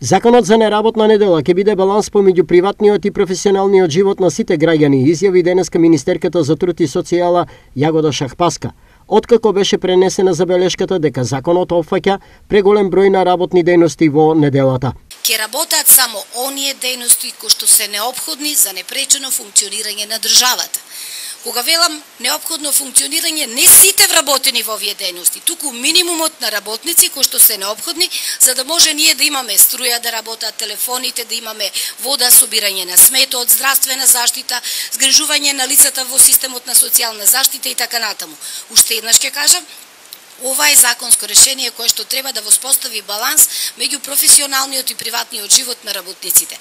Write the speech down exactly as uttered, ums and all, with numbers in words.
Законот за неработна недела ќе биде баланс помеѓу приватниот и професионалниот живот на сите граѓани, изјави денеска министерката за труд и социјала Јагода Шахпаска. Откако беше пренесена забелешката дека законот опфаќа преголем број на работни дејности во неделата. Ќе работат само оние дејности кои што се неопходни за непречено функционирање на државата. Кога велам неопходно функционирање, не сите вработени во овие дејности, туку минимумот на работници кои што се неопходни за да може ние да имаме струја да работат, телефоните, да имаме вода, собирање на сметот, здравствена заштита, згрижување на лицата во системот на социјална заштита и така натаму. Уште еднаш ќе кажам, ова е законско решение кое што треба да воспостави баланс меѓу професионалниот и приватниот живот на работниците.